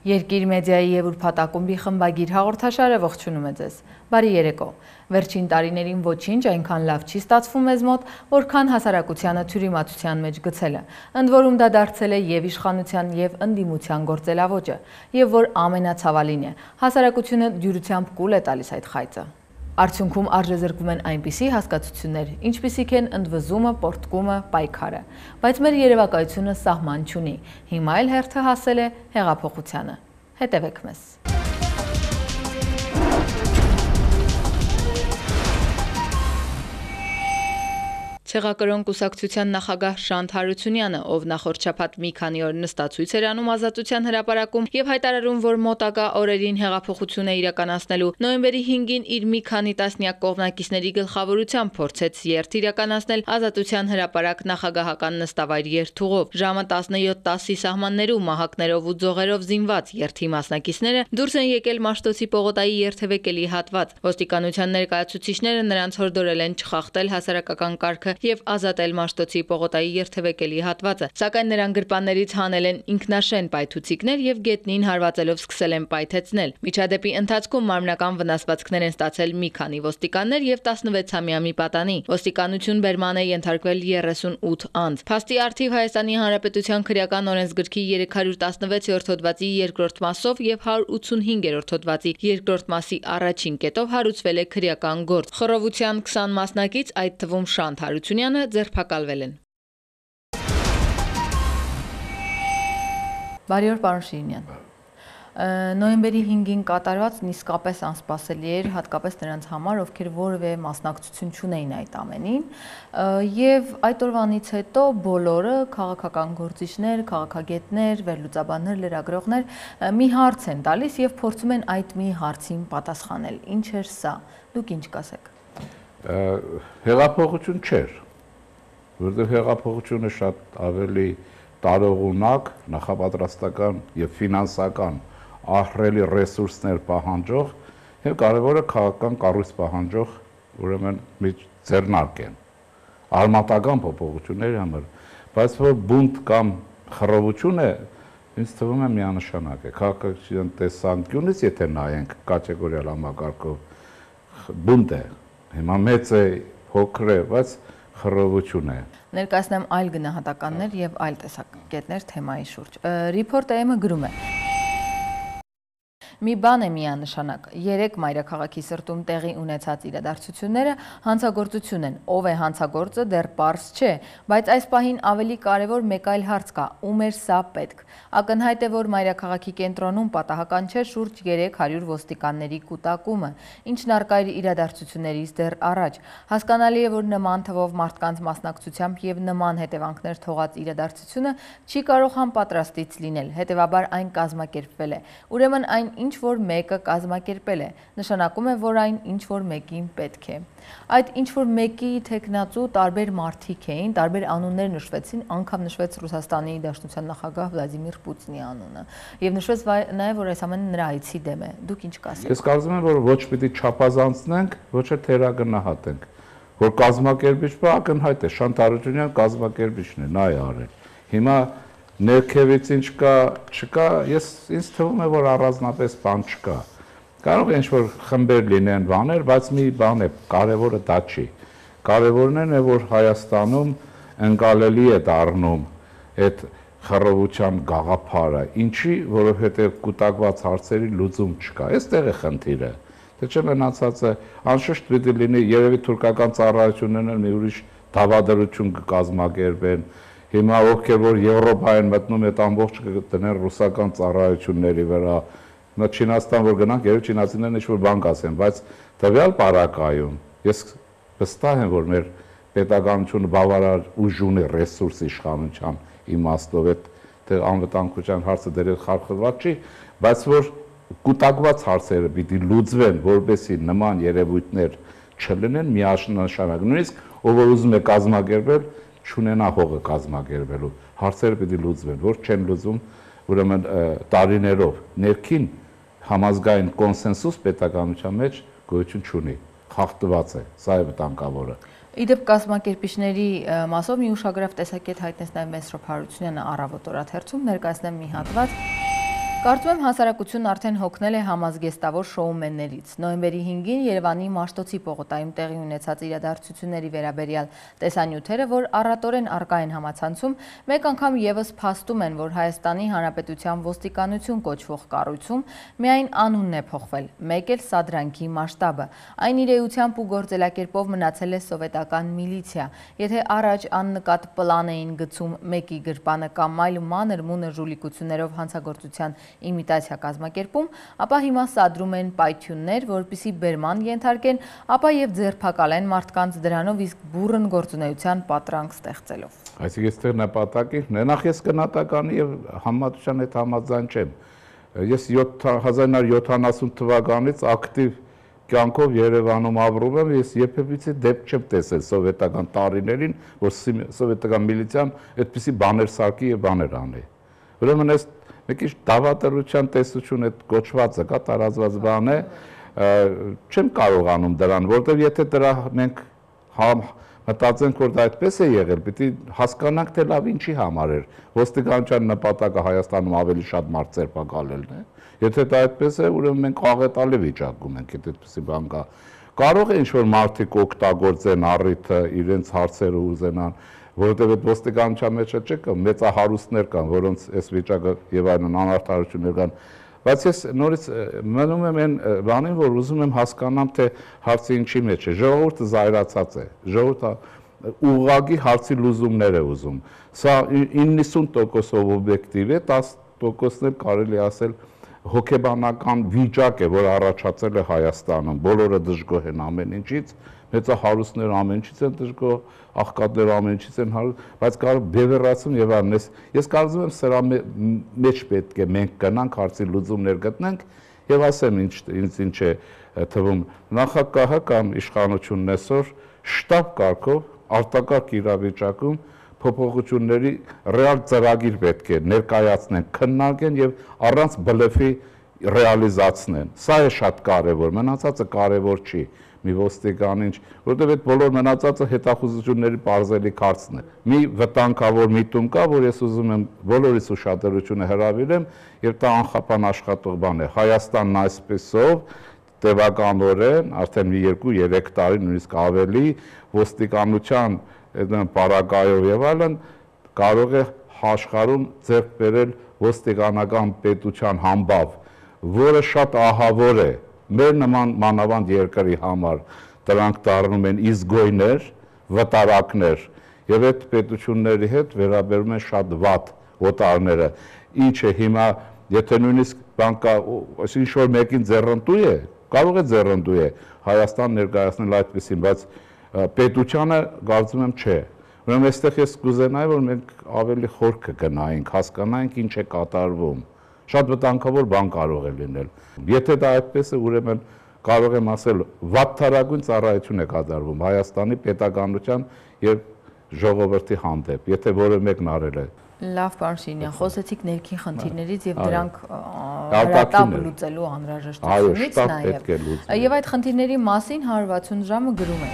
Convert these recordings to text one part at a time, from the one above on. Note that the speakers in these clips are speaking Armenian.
Երկիր մեդիայի եւ ուրբաթակումբի խմբագիր հաղորդաշարը ողջունում է ձեզ։ Բարի երեկո։ Վերջին տարիներին ոչինչ այնքան լավ չի ստացվում մեզ մոտ, որքան հասարակությանը թյուրիմացության մեջ գցելը։ Ընդ որում դա դարձել է եւ իշխանության եւ ընդդիմության գործելավոճը, եւ որ ամենացավալին է, հասարակությունը դյուրությամբ կուլ է տալիս այդ խայծը։ Արդյունքում արժեզրկում են այնպիսի հասկացություններ, ինչպիսիք են ընդվզումը, պորտկումը, պայքարը, բայց մեր երևակայությունը սահման չունի։ Հիմա էլ հերթը հասել է հեղափոխությանը։ Հետևեք մեզ։ Ցեղակրոն կուսակցության նախագահ Շանթ Հարությունյանը, ով նախորդ շաբաթ մի քանի օր նստածույց էր անում Ազատության հրապարակում եւ հայտարարում, որ մոտակա օրերին հեղափոխություն է իրականացնելու, նոյեմբերի 5-ին իր մի քանի տասնյակ կողմնակիցների գլխավորությամբ փորձեց երթ իրականացնել Ազատության հրապարակ նախագահական նստավայր երթուղով։ Ժամը 17:10-ի սահմաններում մահակներով ու ձողերով զինված երթի մասնակիցները դուրս են եկել Մաշտոցի Պողոտայի երթևեկելի հատված։ Ոստիկանության ներկայացուցիչները նրանց հորդորել են չխախտել հասարակական կարգը եւ ազատել Մաշտոցի Պողոտայի երթևեկելի հատվածը, սակայն նրան գրպաններից հանել են ինքնաշեն պայթուցիկներ եւ գետնին հարվածելով սկսել են պայթեցնել։ Միջադեպի ընթացքում մարմնական վնասվածքներ են ստացել մի քանի ոստիկաններ եւ 16-ամյա մի պատանի։ Ոստիկանություն բերման է ենթարկվել 38 անձ։ Փաստի առթիվ Հայաստանի Հանրապետության քրեական օրենսգրքի 316-րդ հոդվածի 2-րդ մասով եւ 185-րդ հոդվածի 2-րդ մասի առաջին կետով հարուցվել է քրեական գործ։ Խռովության 20 մասնակից, այդ թվում Շանթ Հարությունյանը, ձերբակալվել են։ Բարի օր, պարոն Շիրինյան։ Նոյեմբերի 5-ին կատարվածն իսկապես անսպասելի էր, հատկապես նրանց համար, ովքեր որևէ մասնակցություն չունեին այդ ամենին, եւ այդ օրվանից հետո բոլորը քաղաքական գործիչներ, քաղաքագետներ, վերլուծաբաններ, լրագրողներ մի հարց են տալիս եւ փորձում են այդ մի հարցին պատասխանել։ Ինչ էր սա։ Դուք ինչ կասեք։ Հեղափոխություն չէր, որովհետև հեղափոխությունը շատ ավելի տարողունակ, նախապատրաստական եւ ֆինանսական ահռելի ռեսուրսներ պահանջող եւ կարեւորը քաղաքական կառույց պահանջող, ուրեմն մի ձեռնարկ են արմատական փոփոխությունների համար, բայց որ բունտ կամ խռովություն է, ինձ թվում է միանշանակ է քաղաքացիական տեսանկյունից, եթե նայենք կատեգորիալ համակարգով բունտ է, հիմա մեծ է, փոքր է, բայց խռովություն է։ Ներկայացնեմ այլ գնահատականներ եւ այլ տեսակետներ թեմայի շուրջ։ Reporter-ը գրում է. Մի բան է միանշանակ, 3 մայրաքաղաքի սրտում տեղի ունեցած իրադարձությունները հանցագործություն են, ով է հանցագործը դեռ պարզ չէ, բայց այս պահին ավելի կարևոր մեկ այլ հարց կա, ում էր սա պետք։ Ակնհայտ է, որ մայրաքաղաքի կենտրոնում պատահական չէ շուրջ 300 ոստիկանների կուտակումը, ինչն առկա էր իրադարձություններից դեռ առաջ։ Հասկանալի է, որ նման թվով մարդկանց մասնակցությամբ եւ նման հետևանքներ թողած իրադարձությունը չի կարող համապատրաստից լինել, հետեւաբար այն կազմակերպվել է։ Ուրեմն այն ինչ որ մեկը կազմակերպել է, նշանակում է, որ այն ինչ որ մեկին պետք է։ Այդ ինչ որ մեկի թեկնածու տարբեր մարդիկ էին, տարբեր անուններ նշվեցին, անգամ նշվեց Ռուսաստանի Դաշնության նախագահ Վլադիմիր Պուտինի անունը, եւ նշվեց նաեւ, որ այս ամենը նրա այցի դեմ է։ Դուք ինչ կասեք։ Ես կարծում եմ, որ ոչ պիտի չափազանցնենք, ոչ էլ թերագնահատենք, որ կազմակերպիչը ակնհայտ է, Շանթ Հարությունյան կազմակերպիչն է, նա է արել։ Հիմա ներքևից ինչ կա, չկա, ինձ թվում է, որ առանձնապես բան չկա։ Կարող է ինչ-որ խմբեր լինեն բաներ, բայց մի բան է, կարևորը դա չի։ Կարևորն է, որ Հայաստանում ընկալելի է դառնում այդ խռովության գաղափարը, ինչի, որովհետև կուտակված հարցերի լուծում չկա։ Այստեղ է խնդիրը։ Թե չէ մնացածը անշուշտ պիտի լինի, երևի թուրքական ծառայություններն էլ մի ուրիշ դավադրություն կկազմակերպեն։ Հիմա ովքեր որ Եվրոպա են մտնում, այդ ամբողջը կտնեն ռուսական ծառայությունների վրա։ Հիմա Չինաստան որ գնանք, երբ չինացիներն ինչ-որ բան կասեն, բայց տվյալ պարագայում ես վստահ եմ, որ մեր պետականությունը բավարար ուժ ունի ռեսուրս իշխանության իմաստով, այդ անվտանգության հարցը դեռ խարխլված չի, բայց որ կուտակված հարցերը պիտի լուծվեն, որպեսզի նման երևույթներ չլինեն միանշանակ։ Նույնիսկ ով որ ուզում է կազմակերպել, չունենա հողը կազմակերպելու, հարցերը պիտի լուծվեն, որ չեն լուծում, ուրեմն տարիներով ներքին համազգային կոնսենսուս պետականության մեջ գոյություն չունի, խախտված է, սա է վտանգավորը։ Իդեպ կազմակերպիչների մասով մի ուշագրավ տեսակետ հայտնեց նաև Մեսրոպ Հարությունյանը Առավոտ օրաթերթում, ներկայացնեմ մի հատված։ Կարծում եմ հասարակությունն արդեն հոգնել է համազգեստավոր շոումեններից։ Նոյեմբերի 5-ին Երևանի Մաշտոցի պողոտայում տեղի ունեցած իրադարձությունների վերաբերյալ տեսանյութերը, որ առատորեն առկա են համացանցում, մեկ անգամ ևս փաստում են, որ Հայաստանի Հանրապետության ոստիկանություն կոչվող կառույցում միայն անունն է փոխվել, մեկ էլ սադրանքի մասշտաբը։ Այն իր էությամբ ու գործելակերպով մնացել է սովետական միլիցիա։ Եթե առաջ աննկատ պլան էին գծում մեկի գրպանը կամ այլ մանր-մունր ժուլիկություններով հանցագործության իմիտացիա կազմակերպում, ապա հիմա սադրում են պայթյուններ, որպեսզի բերման ենթարկեն, ապա եւ ձերբակալեն մարդկանց դրանով իսկ բուռն գործունեության պատրանք ստեղծելով։ Այսինքն այստեղ նպատակի նախ ես գնահատականի եւ համատության հետ համաձայն չեմ։ Ես 1970 թվականից ակտիվ կյանքով Երևանում ապրում եմ, ես երբևիցե դեպք չեմ տեսել սովետական տարիներին, որ սովետական միլիցիան այդպիսի բաներ սարքի եւ բաներ անի։ Ուրեմն այս մի քիչ դավադրության տեսություն այդ կոչվածը կա տարածված բան է, չեմ կարողանում դրան, որտեղ եթե դրա մենք մտածենք, որ դա այդպես է եղել, պիտի հասկանանք, թե լավ ինչի համար էր։ Ոստիկանության նպատակը Հայաստանում ավելի շատ մարդ ձերբակալելն է։ Եթե դա այդպես է, ուրեմն մենք աղետալի վիճակում ենք, եթե այդպեսի բան կա։ Կարող է ինչ-որ մարդիկ օգտագործեն առիթը, իրենց հարցերը ուզենան, որովհետև այդ ոստիկանության մեջ չկա, մեծահարուստներ կան, որոնց այս վիճակը եւ այլն անարդարություններ կան, բայց ես նորից մնում եմ այն բանին, որ ուզում եմ հասկանամ, թե հարցը ինչի մեջ է։ Ժողովուրդը զայրացած է, ժողովուրդը ուղղակի հարցի լուծումներ է ուզում։ Սա 90% օբյեկտիվ է, 10%-ն էլ կարելի ասել հոգեբանական վիճակ է, որ առաջացել է Հայաստանում, բոլորը դժգոհ են ամեն ինչից, մեծահարուստները ամեն ինչից են դժգոհ, աղքատները ամեն ինչից են հարուստ, բայց կարող բևեռացում եւ այլն։ Ես կարծում եմ սրա մեջ պետք է մենք գնանք հարցի լուծումներ գտնենք եւ ասեմ ինչ է թվում նախագահը կամ իշխանությունն այսօր շտաբ կարգով արտակարգ իրավիճակում փոփոխությունների ռեալ ծրագիր պետք է ներկայացնեն, քննարկեն եւ առանց բլեֆի ռեալիզացնեն։ Սա է շատ կարեւոր, մնացածը կարեւոր չի։ Մի ոստիկան ինչ, որովհետև այդ բոլոր մնացածը հետախուզությունների պարզելիք հարցն է։ Մի վտանգավոր միտում կա, որ ես ուզում եմ բոլորիս ուշադրությունը հրավիրեմ, եւ դա անխափան աշխատող բան է։ Հայաստանն այսպեսով տևականորեն արդեն մի 2-3 տարի, նույնիսկ ավելի, ոստիկանության պարագայով եւ այլն կարող է աշխարհում ձեռք բերել ոստիկանական պետության համբավ, որը շատ ահավոր է մեր նման մանավանդ երկրի համար, դրանք դառնում են իզգոյներ, վտարակներ եւ այդ պետությունների հետ վերաբերում են շատ վատ օտարները, ինչը հիմա եթե նույնիսկ բան կա, ինչ որ մեկին ձեռնտու է, կարող է ձեռնտու է Հայաստան ներկայացնել այդպեսին, բայց պետությանը կարծում եմ չէ։ Ուրեմն այստեղ ես կուզենայի, որ մենք ավելի խորքը գնայինք, հասկանայինք ինչ է կատարվում։ Շատ վտանգավոր բան կարող է լինել։ Եթե դա այդպես է, ուրեմն կարող եմ ասել, վատթարագույն ծառայություն է կատարվում Հայաստանի պետականության եւ ժողովրդի հանդեպ, եթե որը մեկն արել է։ Լավ, պարոն Շիրինյան, խոսեցիք ներքին խնդիրներից եւ դրանք հրատապ լուծելու անհրաժեշտությունից նաեւ։ Եվ այդ խնդիրների մասին 160 ժամը գրում է։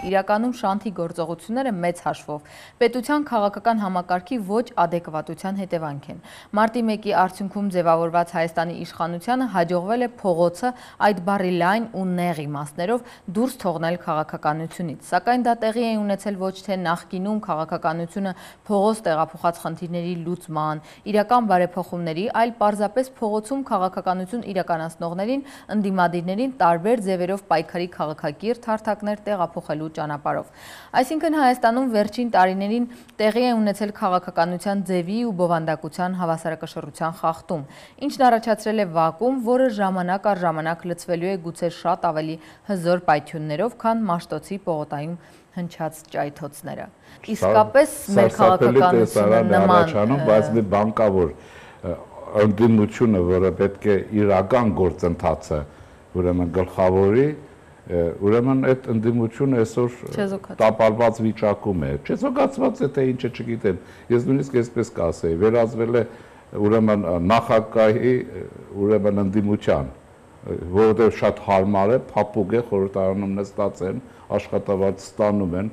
Իրականում շանթի գործողությունները մեծ հաշվով պետության քաղաքական համակարգի ոչ ադեկվատության հետևանք են։ Մարտի 1-ի արդյունքում ձևավորված Հայաստանի իշխանությանը հաջողվել է փողոցը այդ բառի լայն ու նեղ իմաստներով դուրս թողնել քաղաքականությունից, սակայն դա տեղի է ունեցել ոչ թե նախկինում քաղաքականությունը փողոց տեղափոխած խնդիրների լուծման, իրական բարեփոխումների, այլ պարզապես փողոցում քաղաքականություն իրականացնողներին, ընդդիմադիրներին տարբեր ձևերով պայքարի քաղաքակիրթ հարթակներ տեղափոխելու ճանապարհով։ Այսինքն Հայաստանում վերջին տարիներին տեղի է ունեցել քաղաքականության ձևի ու բովանդակության հավասարակշռության խախտում, ինչն առաջացրել է վակուում, որը ժամանակ առ ժամանակ լցվելու է գուցե շատ ավելի հզոր պայթյուններով, քան Մաշտոցի պողոտայում հնչած ճայթոցները։ Իսկապես մեր քաղաքականությունը նման, բայց մի բան կա, որ ընդդիմությունը, որը պետք է իրական գործընթացը, ուրեմն գլխավորի, ուրեմն այդ ընդդիմությունը այսօր տապալված վիճակում է, չեզոքացված է, թե ինչը չգիտեմ, ես նույնիսկ այսպես կասեի, վերածվել է ուրեմն նախագահի ուրեմն ընդդիմության, որովհետև շատ հարմար է, փափուկ է, խորհրդարանում նստած են, աշխատավարձ ստանում են,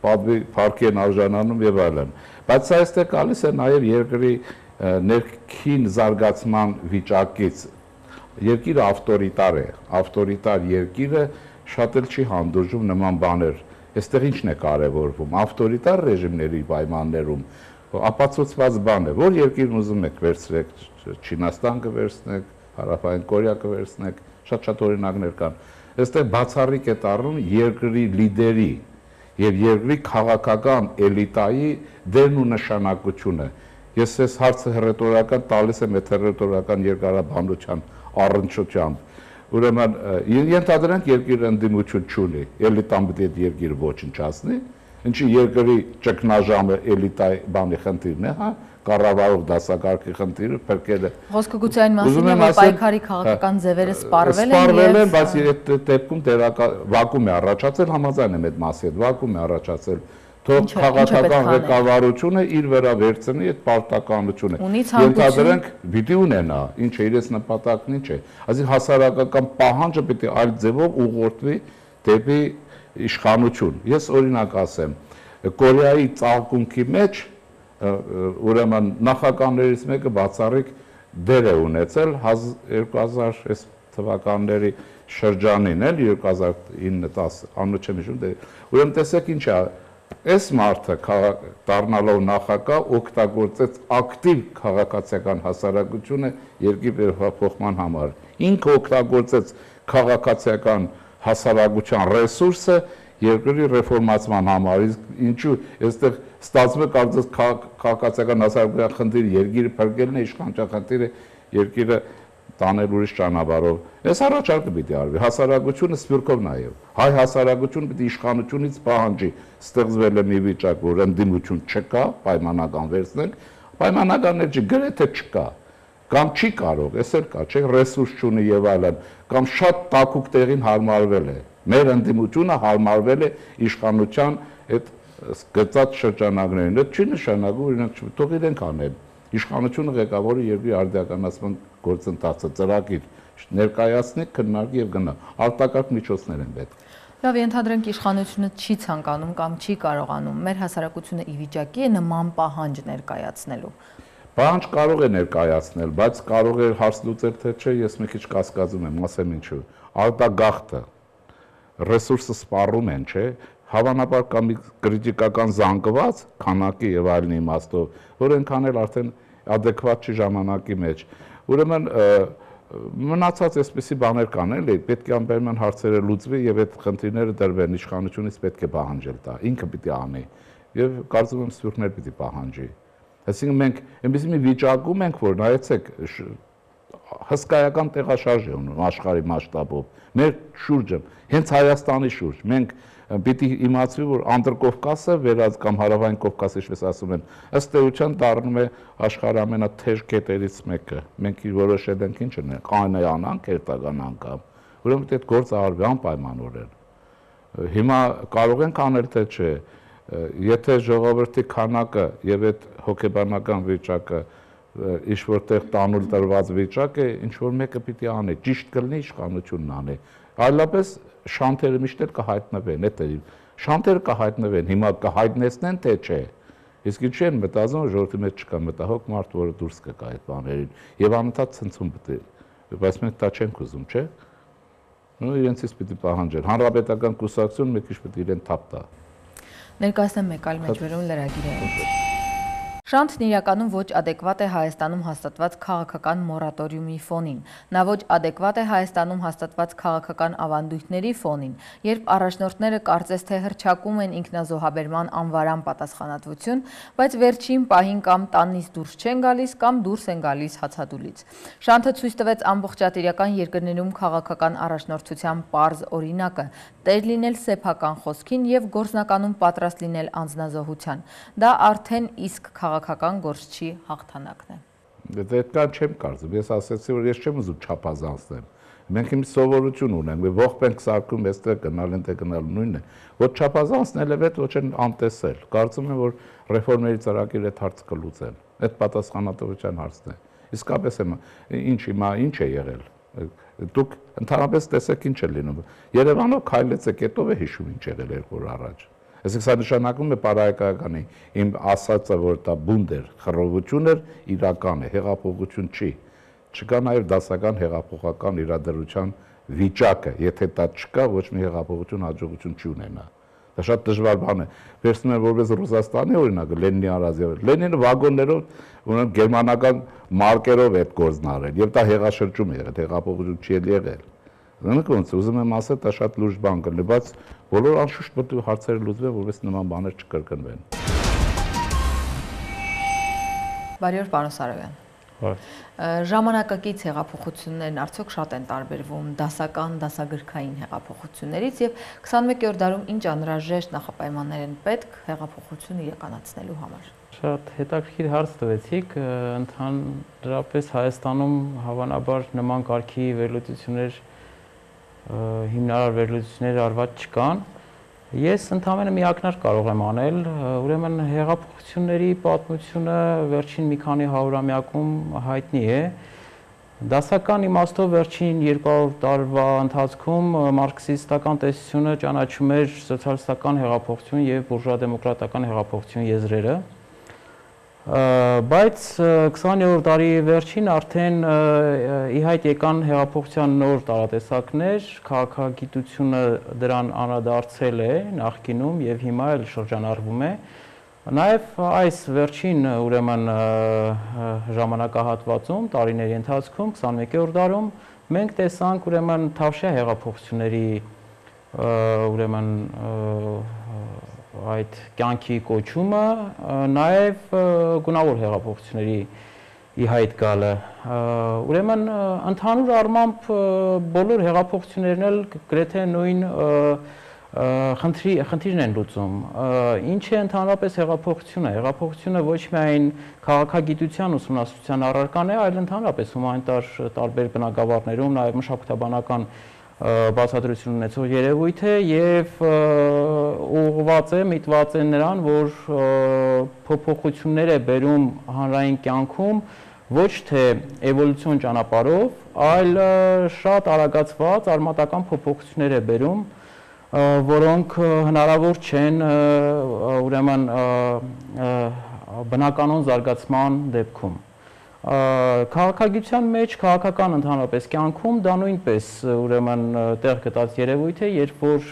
փառքի են արժանանում եւ այլն։ Բայց սա այստեղ գալիս է նաեւ երկրի ներքին զարգացման վիճակից երկիրը ավտորիտար երկիրը շատ էլ չի հանդուրժում նման բաներ։ Այստեղ ինչն է կարևորվում, ավտորիտար ռեժիմների պայմաններում ապացուցված բան է, որ երկիրն ուզում եք վերցրեք, Չինաստան կվերցնեք, Հարավային Կորեա կվերցնեք, շատ օրինակներ կան։ Այստեղ բացառիկ է դառնում երկրի լիդերի եւ երկրի քաղաքական էլիտայի դերն ու նշանակությունը։ Ես այս հարցը հռետորական տալիս եմ այդ հռետորական երկարաբանության առնչությամբ։ Ուրեմն ենթադրենք երկիրը ընդդիմություն չունի, էլիտան պետք է երկիրը ոչնչացնի, ինչի երկրի ճգնաժամը էլիտայի բանի խնդիրն է, հա, կառավարող դասակարգի խնդիրը փրկելը։ Խոսքը գուցե այն մասին է, որ պայքարի քաղաքական ձևերը սպառվել են, բայց այդ դեպքում վակուում է առաջացել, համաձայն եմ այդ մասի հետ, վակուում է առաջացել։ Թող քաղաքական ղեկավարությունը իր վրա վերցնի այդ պարտականությունը։ Ենթադրենք պիտի ունենա, ինչ է իրենց նպատակն ինչ է։ Այսինքն հասարակական պահանջը պիտի այլ ձևով ուղղորդվի դեպի իշխանություն։ Ես օրինակ ասեմ, Կորեայի ծաղկունքի մեջ ուրեմն նախագահներից մեկը բացառիկ դեր է ունեցել 2000 թվականների շրջանին, էլ 2009-10 անունը չեմ հիշում, ուրեմն տեսեք ինչ է, այս մարդը դառնալով նախագահ օգտագործեց ակտիվ քաղաքացիական հասարակությունը երկրի վերափոխման համար։ Ինքը օգտագործեց քաղաքացիական հասարակության ռեսուրսը երկրի ռեֆորմացման համար, ինչու այստեղ ստացվում է կարծես քաղաքացիական հասարակության խնդիրը երկիրը փրկելն է, իշխանության խնդիրը երկիրը տանել ուրիշ ճանապարհով։ Այս առաջարկը պիտի արվի, հասարակությունը սփյուռքով նայով։ Հայ հասարակությունը պիտի իշխանությունից պահանջի ստեղծվել է մի վիճակ, որ ընդդիմություն չկա, պայմանական վերցնենք, պայմանականներ չի, գրեթե չկա, կամ չի կարող, էս էլ կա, չէ, ռեսուրս չունի եւ այլն, կամ շատ տաքուկ տեղին հարմարվել է։ Մեր ընդդիմությունը հարմարվել է իշխանության այդ գծած շրջանակներին։ Դա չի նշանակում, օրինակ, թող իրենք անեն։ Իշխանությունը ղեկավարի երկրի արդիականացման գործընթացը ծրագիր ներկայացնի, քննարկի եւ գնա։ Արտակարգ միջոցներ են պետք։ Լավ, ենթադրենք իշխանությունը չի ցանկանում կամ չի կարողանում։ Մեր հասարակությունը ի վիճակի է նման պահանջ ներկայացնելու։ Պահանջ կարող է ներկայացնել, բայց կարող է հարց լուծել թե չէ, ես մի քիչ կասկածում եմ, ասեմ ինչու։ Արտագաղթը ռեսուրսը սպառում են, չէ՞։ Հավանաբար կա մի կրիտիկական զանգված քանակի եւ այլն իմաստով, որ այնքան էլ արդեն adekvat չի ժամանակի մեջ։ Ուրեմն մնացած այսպիսի բաներ կան, էլի, պետք է անպայման հարցերը լուծվի եւ այդ խնդիրները դրվեն, իշխանությունից պետք է պահանջել դա, ինքը պիտի անի եւ կարծում եմ սփյուռքներ պիտի պահանջի։ Այսինքն մենք այնպիսի մի վիճակում ենք, որ նայեցեք հսկայական տեղաշարժ է ունում աշխարհի մասշտաբով։ Մեր շուրջը, հենց Հայաստանի շուրջ, մենք պիտի իմացվի, որ Անդրկովկասը վերած կամ Հարավային Կովկասը, ինչպես ասում են, ըստ էության դառնում է աշխարհի ամենաթեժ կետերից մեկը։ Մենք որոշել ենք ինչ ունենք, կանանանք, երթական անգամ։ Ուրեմն այդ գործը արվի անպայմանորեն։ Հիմա կարող ենք անել թե չէ, եթե ժողովրդի քանակը եւ այդ հոգեբանական վիճակը ինչ որտեղ տանուլ տրված վիճակ է, ինչ որ մեկը պիտի անի, ճիշտ կլինի իշխանությունն անի։ Այլապես շանթերը միշտ էլ կհայտնվեն, էդ է։ Շանթերը կհայտնվեն, հիմա կհայտնեցնեն թե չէ։ Իսկ ինչի են մտածում, որ ժողովրդի մեջ չկա մտահոգ մարդ, որը դուրս կգա այդ բաներին, եւ անընդհատ ցնցում պետք է։ Բայց մենք դա չենք ուզում, չէ՞։ Ու իրենցից պիտի պահանջել։ Հանրապետական կուսակցությունը մի քիչ պետք է իրեն թափ տա։ Ներկայացնեմ մեկ այլ մեջբերում լրագիրը։ Շանթն իրականում ոչ adekvat է Հայաստանում հաստատված քաղաքական մորատորիումի ֆոնին։ Նա ոչ adekvat է Հայաստանում հաստատված քաղաքական ավանդույթների ֆոնին, երբ առաջնորդները կարծես թե հռչակում են ինքնազոհաբերման անվարան պատասխանատվություն, բայց վերջին պահին կամ տանից դուրս չեն գալիս կամ դուրս են գալիս հացադուլից։ Շանթը ցույց տվեց ամբողջատիրական երկրներում քաղաքական առաջնորդության պարզ օրինակը՝ տեր լինել սեփական խոսքին եւ գործնականում պատրաստ լինել անձնազոհության։ Դա արդեն իսկ քաղաքական գործչի հաղթանակն է։ Դեռ չեմ կարծում, ես ասացի, որ ես չեմ ուզում չափազանցնեմ։ Մենք իմ սովորություն ունենք, մի ողջ ենք սարքում, այստեղ գնալ են, գնալ նույնն է։ Ոչ չափազանցնել է, ոչ են անտեսել։ Կարծում եմ, որ ռեֆորմերի ծրագիրը այդ հարցը կլուծեն։ Այդ պատասխանատվության հարցն է։ Իսկապես ինչ հիմա ինչ է եղել։ Դուք ընդհանրապես տեսեք ինչ է լինում։ Երևանով քայլեցեք, հետո է հիշում ինչ եղել 2 օր առաջ։ Այսինքն սա նշանակում է պարայակայականի իմ ասածը, որ դա բունդ էր, խռովություն էր, իրական է, հեղափոխություն չի։ Չկա նաև դասական հեղափոխական իրադրության վիճակը, եթե դա չկա, ոչ մի հեղափոխություն հաջողություն չի ունենա։ Դա շատ դժվար բան է։ Վերցնում են որպես Ռուսաստանի օրինակը Լենինի առազիվ։ Լենինը վագոններով, ուրեմն գերմանական մարկերով այդ գործն արել, եւ դա հեղաշրջում է եղել, հեղափոխություն չի եղել։ Դրանք ոնց ուզում եմ ասել, դա շատ լուրջ բան կլինի, բայց բոլոր անշուշտ պետք է հարցերը լուծվեն, որովհետեւ նման բաներ չկրկնվեն։ Բարի օր, պարոն Սարոյան։ Ժամանակակից հեղափոխություններն արդյոք շատ են տարբերվում դասական, դասագրքային հեղափոխություններից եւ 21-րդ դարում ինչ անհրաժեշտ նախապայմաններ են պետք հեղափոխությունը իրականացնելու համար։ Շատ հետաքրքիր հարց տվեցիք, ընդհանրապես Հայաստանում հավանաբար նման կարգի վերլուծություններ, հիմնարար վերլուծություններ արված չկան։ Ես ընդհանրապես մի ակնարկ կարող եմ անել, ուրեմն հեղափոխությունների պատմությունը վերջին մի քանի հարյուրամյակում հայտնի է։ Դասական իմաստով վերջին 200 տարվա ընթացքում մարքսիստական տեսությունը ճանաչում էր սոցիալիստական հեղափոխություն եւ բուրժուա-դեմոկրատական հեղափոխություն եզրերը։ Բայց 20-րդ դարի վերջին արդեն ի հայտ եկան հեղափոխության նոր տարատեսակներ, քաղաքագիտությունը դրան անդրադարձել է նախկինում եւ հիմա էլ շրջանառվում է։ Նաեւ այս վերջին ուրեմն ժամանակահատվածում, տարիների ընթացքում 21-րդ դարում մենք տեսանք ուրեմն թավշյա հեղափոխությունների ուրեմն այդ կյանքի կոչումը, նաև գունավոր հեղափոխությունների ի հայտ գալը։ Ուրեմն ընդհանուր առմամբ բոլոր հեղափոխություններն էլ գրեթե նույն խնդիրն են լուծում։ Ինչ է ընդհանրապես հեղափոխությունը։ Հեղափոխությունը ոչ միայն քաղաքագիտության ուսումնասիրության առարկան է, այլ ընդհանրապես հումանիտար տարբեր բնագավառներում նաև մշակութաբանական բացատրություն ունեցող երևույթ է եւ ուղղված է, միտված է նրան, որ փոփոխություններ է բերում հանրային կյանքում ոչ թե էվոլյուցիոն ճանապարհով, այլ շատ արագացված արմատական փոփոխություններ է բերում, որոնք հնարավոր չեն ուրեմն բնականոն զարգացման դեպքում։ Քաղաքագիտության մեջ, քաղաքական ընդհանրապես կյանքում դա նույնպես ուրեմն տեղ գտած երևույթ է, երբ որ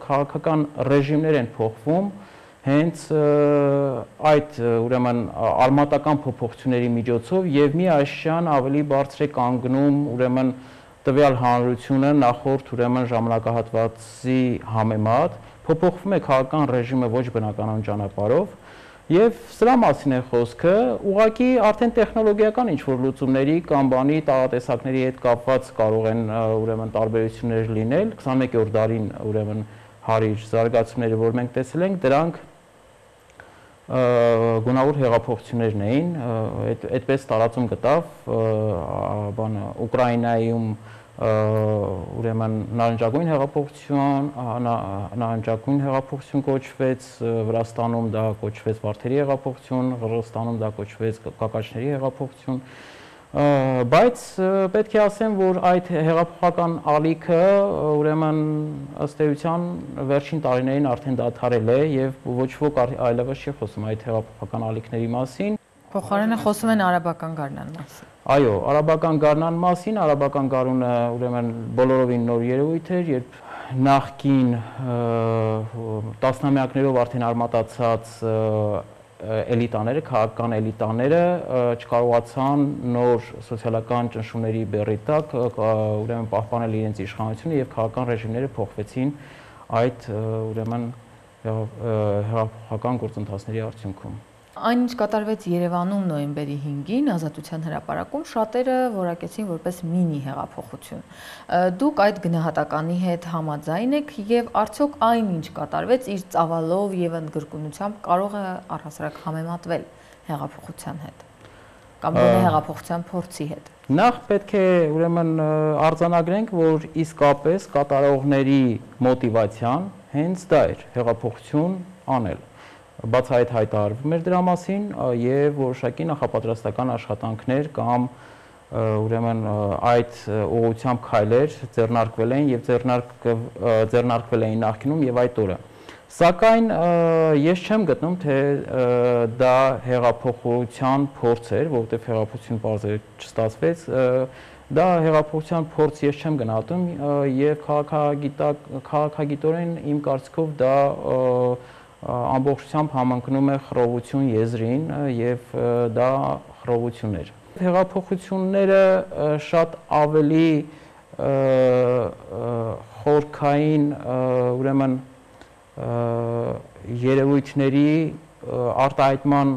քաղաքական ռեժիմներ են փոխվում, հենց այդ ուրեմն արմատական փոփոխությունների միջոցով եւ միաշյան ավելի բարձր է կանգնում ուրեմն տվյալ հանրությունը նախորդ ուրեմն ժամանակահատվածի համեմատ, փոփոխվում է քաղաքական ռեժիմը ոչ բնականon ճանապարհով։ Եվ սրա մասին է խոսքը, ուղղակի արդեն տեխնոլոգիական ինչ-որ լուծումների կամ բանի տարատեսակների հետ կապված կարող են ուրեմն տարբերություններ լինել, 21-րդ դարին ուրեմն հարիր զարգացումները, որ մենք տեսել ենք, դրանք գունավոր հեղափոխություններն էին, այդպես տարածում գտավ բանը Ուկրաինայում ուրեմն նարնջագույն հեղափոխություն կոչվեց, Վրաստանում դա կոչվեց Վարդերի հեղափոխություն, Ղրղստանում դա կոչվեց Կակաչների հեղափոխություն, բայց պետք է ասեմ, որ այդ հեղափոխական ալիքը ուրեմն ըստ էության վերջին տարիներին արդեն դադարել է եւ ոչ ոք այլևս չի խոսում այդ հեղափոխական ալիքների մասին։ Փոխարենը խոսում են արաբական գարնան մասին։ Այո, արաբական գարնան մասին, արաբական գարունը ուրեմն բոլորովին նոր երևույթ էր, երբ նախկին տասնամյակներով արդեն արմատացած էլիտաները, քաղաքական էլիտաները չկարողացան նոր սոցիալական ճնշումների բեռի տակ ուրեմն պահպանել իրենց իշխանությունը եւ քաղաքական ռեժիմները փոխվեցին այդ ուրեմն հեղափոխական գործընթացների արդյունքում։ Այն ինչ կատարվեց Երևանում նոյեմբերի 5-ին Ազատության հրապարակում շատերը որակեցին որպես մինի հեղափոխություն։ Դուք այդ գնահատականի հետ համաձայն եք եւ արդյոք այն ինչ կատարվեց իր ծավալով եւ ընդգրկունությամբ կարող է առհասարակ համեմատվել հեղափոխության հետ կամ գոնե հեղափոխության փորձի հետ։ Նախ պետք է ուրեմն արձանագրենք, որ իսկապես կատարողների մոտիվացիան հենց դա էր՝ հեղափոխություն անել։ Բացահայտ հայտարարվում էր դրա մասին եւ որոշակի նախապատրաստական աշխատանքներ կամ ուրեմն այդ ուղղությամբ քայլեր ձեռնարկվել էին եւ ձեռնարկվել էին նախկինում եւ այդ օրը։ Սակայն ես չեմ գտնում, թե դա հեղափոխության փորձ էր, որովհետև հեղափոխություն բարձր չստացվեց, դա հեղափոխության փորձ ես չեմ գնահատում եւ քաղաքագիտորեն իմ կարծիքով դա ամբողջությամբ համընկնում է խռովություն եզրին եւ դա խռովություն էր։ Հեղափոխությունները շատ ավելի խորքային, ուրեմն երևույթների արտահայտման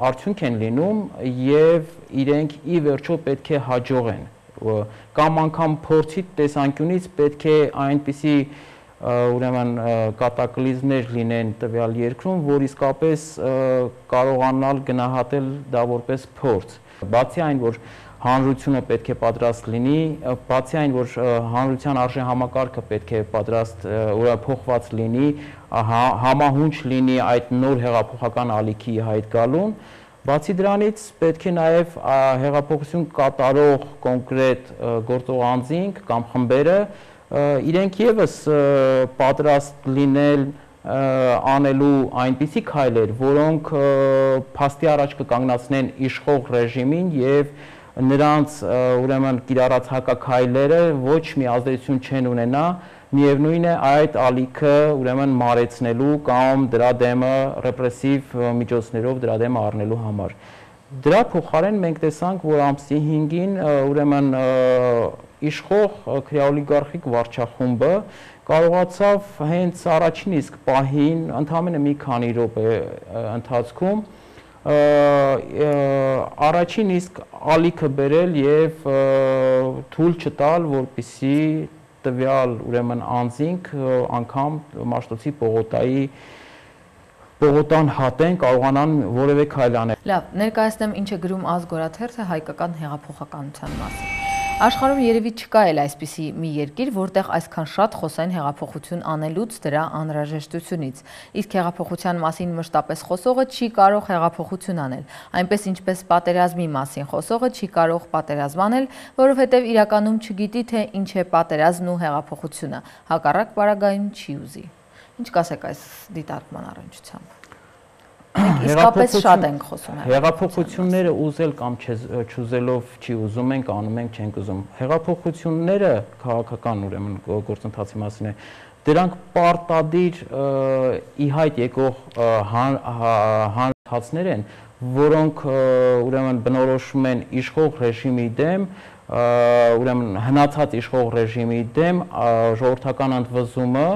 արդյունք են լինում եւ իրենք ի վերջո պետք է հաջողեն կամ անգամ փորձի տեսանկյունից պետք է այնպիսի ուրեմն կատակլիզմներ լինեն տվյալ երկրում, որ իսկապես կարողանալ գնահատել դա որպես փորձ։ Բացի այն, որ հանրությունը պետք է պատրաստ լինի, բացի այն, որ հանրության արժեհամակարգը պետք է պատրաստ փոխված լինի, համահունչ լինի այդ նոր հեղափոխական ալիքի հայտ գալուն, բացի դրանից պետք է նաև հեղափոխություն կատարող կոնկրետ գործող անձինք կամ խմբերը իրենք եւս պատրաստ լինել անելու այնպիսի քայլեր, որոնք փաստի առաջ կկանգնացնեն իշխող ռեժիմին եւ նրանց ուրեմն կիրառած հակաքայլերը ոչ մի ազդեցություն չեն ունենա, միևնույն է այդ ալիքը ուրեմն մարեցնելու կամ դրա դեմը ռեպրեսիվ միջոցներով դրա դեմը առնելու համար։ Դրա փոխարեն մենք տեսանք, որ ամսի 5-ին ուրեմն իշխող քրեաօլիգարխիկ վարչախումբը կարողացավ հենց առաջին իսկ պահին ընդամենը մի քանի րոպե ընթացքում առաջին իսկ ալիքը բերել եւ թույլ չտալ, որպեսզի տվյալ ուրեմն անձինք անգամ Մաշտոցի պողոտան հատեն կարողանան որևէ քայլ անել։ Լավ, ներկայացնեմ ինչ է գրում Ազգորաթերթը հայկական հեղափոխականության մասին։ Աշխարհում երևի չկա էլ այսպիսի մի երկիր, որտեղ այսքան շատ խոսեն հեղափոխություն անելուց դրա անհրաժեշտությունից։ Իսկ հեղափոխության մասին մշտապես խոսողը չի կարող հեղափոխություն անել, այնպես ինչպես պատերազմի մասին խոսողը չի կարող պատերազմ անել, որովհետև իրականում չգիտի, թե ինչ է պատերազմն ու հեղափոխությունը, հակառակ պարագայում չի ուզի։ Ինչ կասեք այս դիտարկման առնչությամբ։ Իսկապես շատ ենք խոսում։ Հեղափոխությունները ուզել կամ չուզելով չի ուզում ենք, անում ենք, չենք ուզում։ Հեղափոխությունները քաղաքական ուրեմն գործընթացի մասին է։ Դրանք պարտադիր ի հայտ եկող հանրացներ են, որոնք ուրեմն բնորոշում են իշխող ռեժիմի դեմ, ուրեմն հնացած իշխող ռեժիմի դեմ ժողովրդական ընդվզումը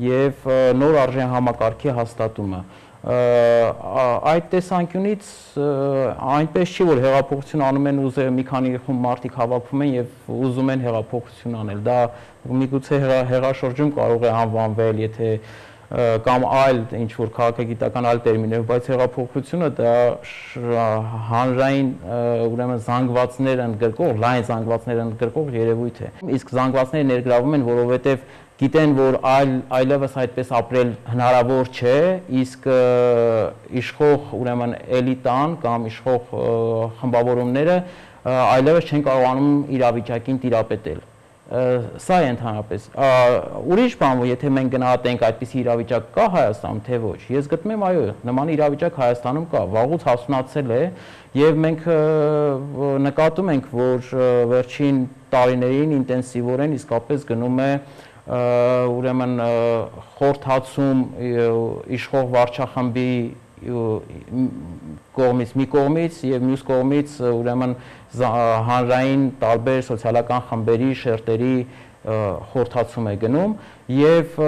եւ նոր արժեհամակարգի հաստատումը։ Այդ տեսանկյունից այնպես չի, որ հեղափոխություն անում են ուզել մի քանի խումբ մարդիկ հավաքվում են եւ ուզում են հեղափոխություն անել։ Դա միգուցե հեղաշրջում կարող է անվանվել, եթե կամ այլ ինչ որ քաղաքագիտական այլ տերմիններով, բայց հեղափոխությունը դա հանրային ուրեմն զանգվածներ ընդգրկող, լայն զանգվածներ ընդգրկող երևույթ է։ Իսկ զանգվածները ներգրավում են, որովհետեւ գիտեն, որ այլևս այդպես ապրել հնարավոր չէ, իսկ իշխող ուրեմն էլիտան կամ իշխող խմբավորումները այլևս չեն կարողանում իրավիճակին տիրապետել։ Սա է ընդհանրապես։ Ուրիշ բան, եթե մենք գնահատենք այդպիսի իրավիճակ կա Հայաստանում, թե ոչ, ես գտնում եմ, այո, նման իրավիճակ Հայաստանում կա, վաղուց հասունացել է եւ մենք նկատում ենք, որ վերջին տարիներին ինտենսիվորեն իսկապես գնում է ուրեմն խորհրդացում իշխող վարչախմբի կողմից մի կողմից եւ մյուս կողմից ուրեմն հանրային տարբեր սոցիալական խմբերի շերտերի խորհրդացում է գնում եւ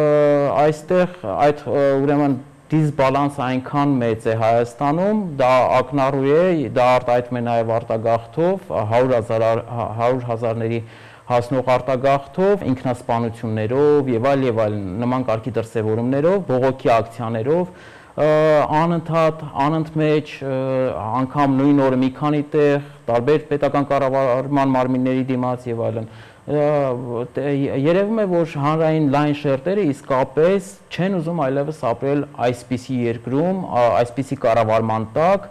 այստեղ այդ ուրեմն դիսբալանսը այնքան մեծ է Հայաստանում, դա ակնառու է, դա արտահայտվում է նաեւ արտագաղթով 100,000-ների հասնող արտագաղթով, ինքնասպանություններով եւ այլ նման կարգի դրսեւորումներով, բողոքի ակցիաներով, անընդմեջ անգամ նույն օրը մի քանի տեղ, տարբեր պետական կառավարման մարմինների դիմաց եւ այլն։ Երևում է, որ հանրային լայն շերտերը իսկապես չեն ուզում այլևս ապրել այսպիսի երկրում, այսպիսի կառավարման տակ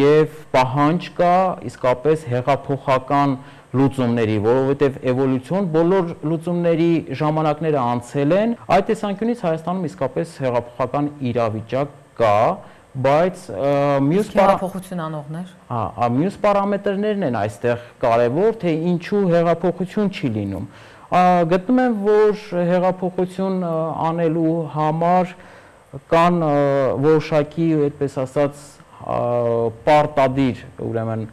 եւ պահանջ կա իսկապես հեղափոխական լուծումների, որովհետև էվոլյուցիոն բոլոր լուծումների ժամանակները անցել են, այդ տեսանկյունից Հայաստանում իսկապես հեղափոխական իրավիճակ կա, բայց հեղափոխություն անողներ։ Մյուս պարամետրներն են այստեղ կարևոր, թե ինչու հեղափոխություն չի լինում։ Գտնում եմ, որ հեղափոխություն անելու համար կան որոշակի, այդպես ասած, պարտադիր, ուրեմն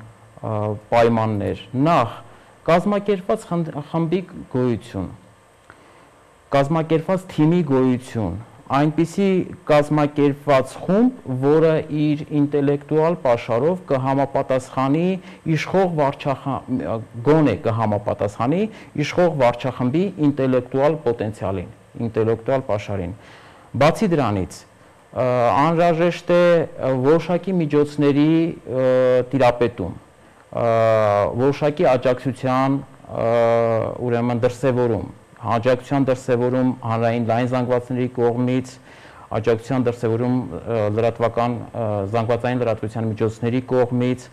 պայմաններ։ Նախ կազմակերպված խմբի գոյություն, կազմակերպված թիմի գոյություն, այնպիսի կազմակերպված խումբ, որը իր ինտելեկտուալ պաշարով կհամապատասխանի գոնե կհամապատասխանի իշխող վարչախմբի ինտելեկտուալ պոտենցիալին, ինտելեկտուալ պաշարին։ Բացի դրանից, անհրաժեշտ է որոշակի միջոցների տիրապետում, որոշակի աջակցության ուրեմն դրսևորում, աջակցության դրսևորում հանրային լայն զանգվածների կողմից, աջակցության դրսևորում զանգվածային լրատվության միջոցների կողմից,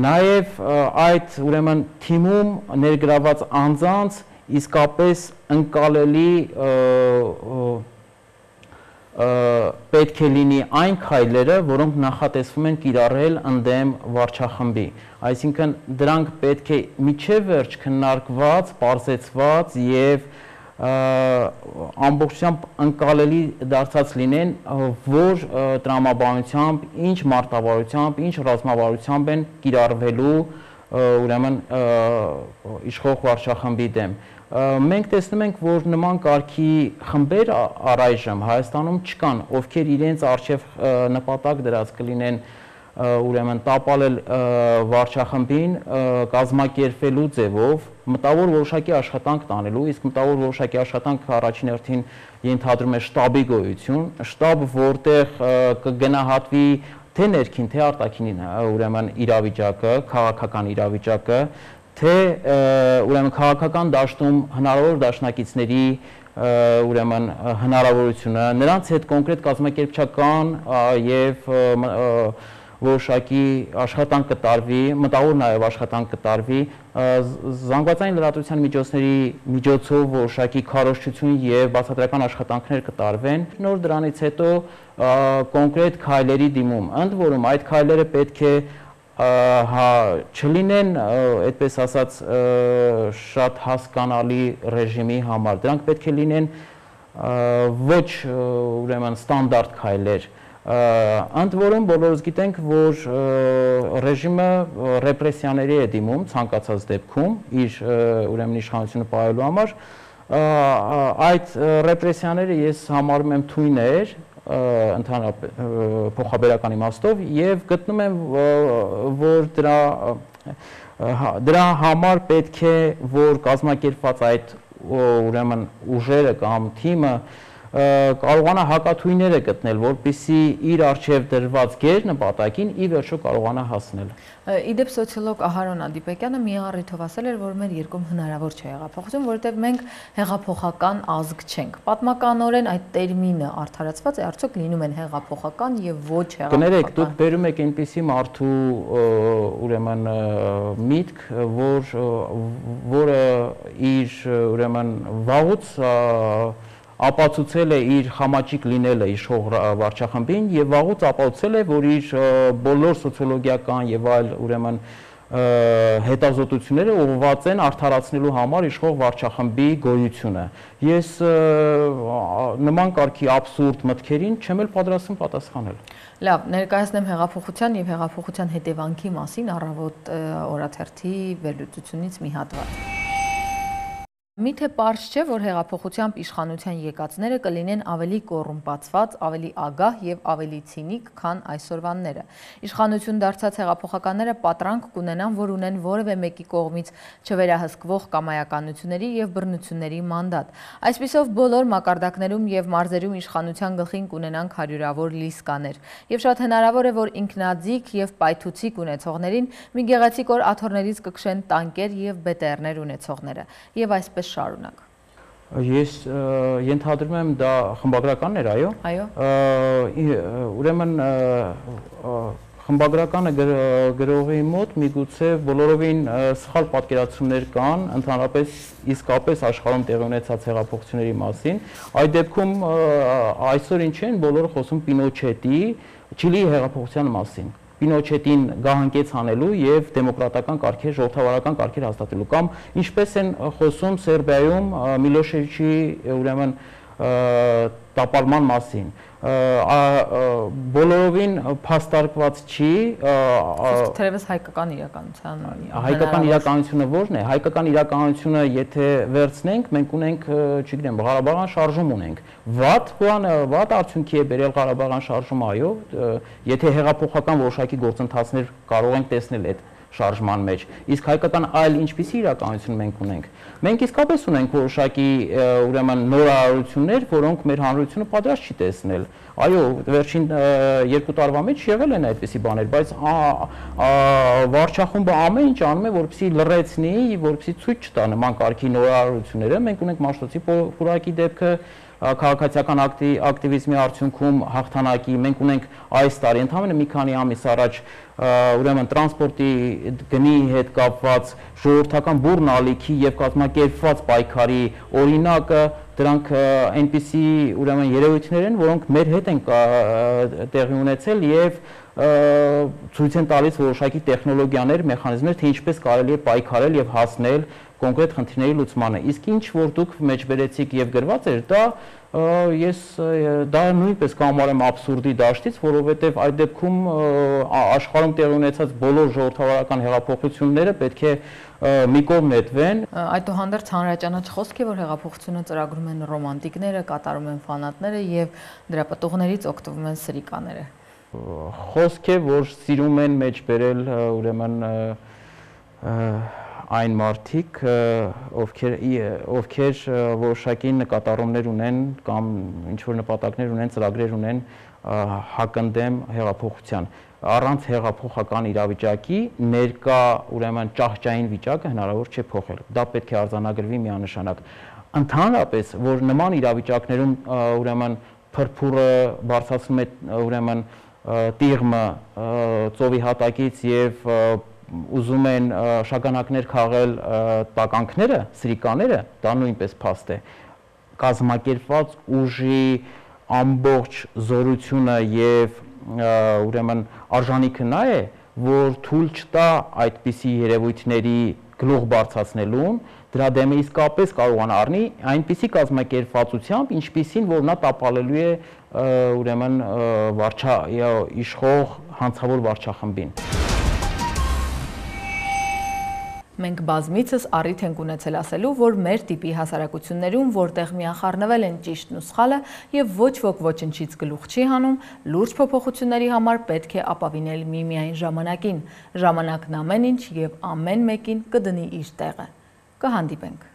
նաև այդ ուրեմն թիմում ներգրաված անձանց իսկապես ընկալելի պետք է լինի այն քայլերը, որոնք նախատեսվում են կիրառել ընդդեմ վարչախմբի։ Այսինքն դրանք պետք է միջև վերջ քննարկված, պարզեցված եւ ամբողջությամբ ընկալելի դարձած լինեն, որ տրամաբանությամբ, ինչ մարտավարությամբ, ինչ ռազմավարությամբ են կիրառվելու ուրեմն իշխող վարչախմբի դեմ։ Մենք տեսնում ենք, որ նման կարգի խմբեր առայժմ Հայաստանում չկան, ովքեր իրենց արժև նպատակ դրած կլինեն ուրեմն տապալել վարչախմբին կազմակերպելու ձևով, մտավոր որոշակի աշխատանք տանելու, իսկ մտավոր որոշակի աշխատանք առաջին հերթին ենթադրում է շտաբի գոյություն, շտաբ, որտեղ կգնահատվի թե ներքին, թե արտաքին ուրեմն իրավիճակը, քաղաքական իրավիճակը, թե ուրեմն քաղաքական դաշտում հնարավոր դաշնակիցների ուրեմն հնարավորությունը, նրանց հետ կոնկրետ կազմակերպչական եւ որոշակի աշխատանք կտարվի, մտավոր նաև աշխատանք կտարվի, զանգվածային լրատվության միջոցների միջոցով որոշակի քարոզչություն եւ բացատրական աշխատանքներ կտարվեն։ Նոր դրանից հետո կոնկրետ քայլերի դիմում, ընդ որում այդ քայլերը պետք է չլինեն, այդպես ասած, շատ հասկանալի ռեժիմի համար, դրանք պետք է լինեն ոչ ուրեմն ստանդարտ քայլեր, ընդ որում բոլորս գիտենք, որ ռեժիմը ռեպրեսիաների է դիմում ցանկացած դեպքում իր ուրեմն իշխանությունը պահելու համար, այդ ռեպրեսիաները ես համարում եմ թույներ ընդհանրապես փոխաբերական իմաստով եւ գտնում եմ, որ դրա համար պետք է, որ կազմակերպված այդ ուրեմն ուժերը կամ թիմը կարողանա հակաթույները գտնել, որպեսզի իր արժև դրված գեր նպատակին ի վերջո կարողանա հասնել։ Իդեպ սոցիոլոգ Ահարոն Ադիպեկյանը մի առիթով ասել էր, որ մեր երկրում հնարավոր չէ հեղափոխություն, որովհետև մենք հեղափոխական ազգ չենք։ Պատմականորեն այդ տերմինը արդարացված է, արդյոք լինում են հեղափոխական եւ ոչ հեղափոխական։ Կներեք, դուք բերում եք այնպիսի մարդու ուրեմն միտք, որը իր ուրեմն վաղուց ապացուցել է իր խամաճիկ լինելը իշխող վարչախմբին եւ վաղուց ապացուցել է, որ իր բոլոր սոցիոլոգիական եւ այլ ուրեմն հետազոտությունները ուղղված են արդարացնելու համար իշխող վարչախմբի գոյությունը։ Ես նման կարգի աբսուրդ մտքերին չեմ էլ պատրաստվում պատասխանել։ Լավ, ներկայացնեմ հեղափոխության եւ հեղափոխության հետևանքի մասին առավոտ օրաթերթի վերլուծությունից մի հատված։ Միթե պարզ չէ, որ հեղափոխությամբ իշխանության եկածները կլինեն ավելի կոռումպացված, ավելի ագահ եւ ավելի ցինիկ, քան այսօրվանները։ Իշխանություն դարձած հեղափոխականները պատրանք կունենան, որ ունեն որևէ մեկի կողմից չվերահսկվող կամայականությունների եւ բռնությունների մանդատ։ Այսպիսով բոլոր մակարդակներում եւ մարզերում իշխանության գլխին կունենան հարյուրավոր լիսկաներ։ Եվ շատ հնարավոր է, որ ինքնաձիգ եւ պայթուցիկ ունեցողներին մի գեղեցիկ օր աթոռներից կքշեն տանկեր եւ բետերներ ունեցողները։ Եվ այսպես շարունակ։ Ես ենթադրում եմ դա խմբագրականն էր, այո։ Այո։ Ուրեմն խմբագրականը գրողի մոտ միգուցե բոլորովին սխալ պատկերացումներ կան ընդհանրապես իսկապես աշխարհում տեղի ունեցած հեղափոխությունների մասին։ Այդ դեպքում այսօր ինչ են բոլորը խոսում Պինոչետի Չիլիի հեղափոխության մասին։ Պինոչետին գահանկեց անելու եւ դեմոկրատական կարգեր, ժողովրդավարական կարգեր հաստատելու կամ ինչպես են խոսում Սերբիայում Միլոշեվիչի ուրեմն տապալման մասին։ Բոլորովին փաստարկված չի թերևս հայկական իրականության հայկական իրականությունը ո՞րն է հայկական իրականությունը եթե վերցնենք մենք ունենք չգիտեմ Ղարաբաղյան շարժում ունենք վատ արդյունքի է բերել Ղարաբաղյան շարժումը այո եթե հեղափոխական որոշակի գործընթացներ կարող ենք տեսնել այդ շարժման մեջ իսկ հայկական այլ ինչպիսի իրականություն մենք իսկապես ունենք որոշակի ուրեմն նորարարություններ որոնք մեր հանրությունը պատրաստ չի տեսնել այո վերջին 2 տարվա մեջ եղել են այդպիսի բաներ բայց վարչախումբը ամեն ինչ անում է որպեսզի լռեցնի որպեսզի ցույց չտա նման կարգի նորարարությունները մենք ունենք Մաշտոցի պուրակի դեպքը քաղաքացիական ակտիվիզմի արդյունքում հաղթանակի մենք ունենք այս տարի ընդհանրապես մի քանի ամիս առաջ ուրեմն տրանսպորտի գնի հետ կապված ժողովրդական բուռն ալիքի եւ կազմակերպված պայքարի օրինակը դրանք այնպիսի ուրեմն երևույթներ են որոնք մեր հետ են տեղի ունեցել եւ ցույց են տալիս որոշակի տեխնոլոգիաներ, մեխանիզմներ, թե ինչպես կարելի է պայքարել եւ հասնել կոնկրետ խնդիրների լուծմանը։ Իսկ ինչ որ դուք մեջբերեցիք եւ գրված էր, ես դա նույնպես կհամարեմ աբսուրդի դաշտից, որովհետեւ այդ դեպքում աշխարհում տեղի ունեցած բոլոր ժողովրդավարական հեղափոխությունները պետք է մի կողմ նետվեն։ Այդուհանդերձ հանրաճանաչ խոսք է, որ հեղափոխությունը ծրագրում են ռոմանտիկները, կատարում են ֆանատները եւ դրա պատողներից օգտվում են սրիկաները։ Խոսք է, որ սիրում են մեջբերել ուրեմն այն մարդիկ, ովքեր որոշակի նկատառումներ ունեն կամ ինչ-որ նպատակներ ունեն, ծրագրեր ունեն հակընդդեմ հեղափոխության։ Առանց հեղափոխական իրավիճակի ներկա ուրեմն ճահճային վիճակը հնարավոր չէ փոխել։ Դա պետք է արձանագրվի միանշանակ։ Ընդհանրապես, որ նման իրավիճակներում ուրեմն փրփուրը բարձրացնում է ուրեմն տիղմը ծովի հատակից եւ ուզում են շագանակներ քաղել տականքները, սրիկաները, դա նույնպես փաստ է։ Կազմակերպված ուժի ամբողջ զորությունը եւ ուրեմն արժանիքը նա է, որ թույլ չտա այդպիսի երևույթների գլուխ բարձրացնելուն, դրա դեմը իսկապես կարողանա առնի այնպիսի կազմակերպվածությամբ, ինչպիսին որ նա տապալելու է ուրեմն իշխող հանցավոր վարչախմբին։ Մենք բազմիցս առիթ ենք ունեցել ասելու, որ մեր տիպի հասարակություններում, որտեղ միախառնվել են ճիշտն ու սխալը եւ ոչ ոք ոչնչից գլուխ չի հանում, լուրջ փոփոխությունների համար պետք է ապավինել միմիայն ժամանակին։ Ժամանակն ամեն ինչ եւ ամեն մեկին կդնի իր տեղը։ Կհանդիպենք։